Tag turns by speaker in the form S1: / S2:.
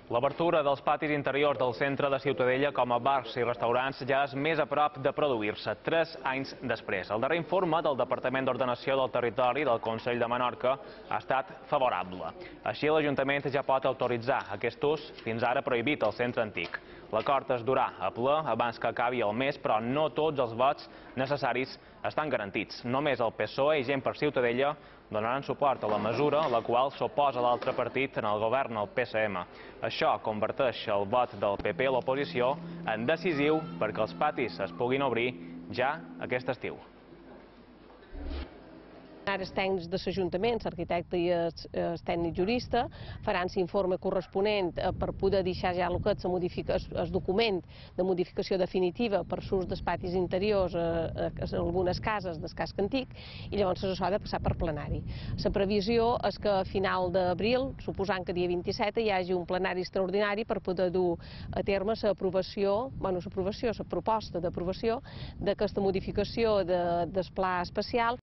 S1: L'obertura dels patis interiors del centre de Ciutadella com a bars i restaurants ja és més a prop de produir-se, 3 anys després. El darrer informe del Departament d'Ordenació del Territori del Consell de Menorca ha estat favorable. Així, l'Ajuntament ja pot autoritzar aquest ús, fins ara prohibit al centre antic. L'acord es durà a ple abans que acabi el mes, però no tots els vots necessaris estan garantits. Només el PSOE i Gent per Ciutadella donaran suport a la mesura, la qual s'oposa l'altre partit en el govern, el PSM. Això converteix el vot del PP a l'oposició en decisiu perquè els patis es puguin obrir ja aquest estiu.
S2: Ara els tècnics dels ajuntaments, l'arquitecte i el tècnic jurista, faran l'informe corresponent per poder deixar ja el document de modificació definitiva per l'ús dels patis interiors en algunes cases del casc antic i llavors això ha de passar per plenari. La previsió és que a final d'abril, suposant que dia 27, hi hagi un plenari extraordinari per poder dur a terme la proposta d'aprovació d'aquesta modificació del pla especial.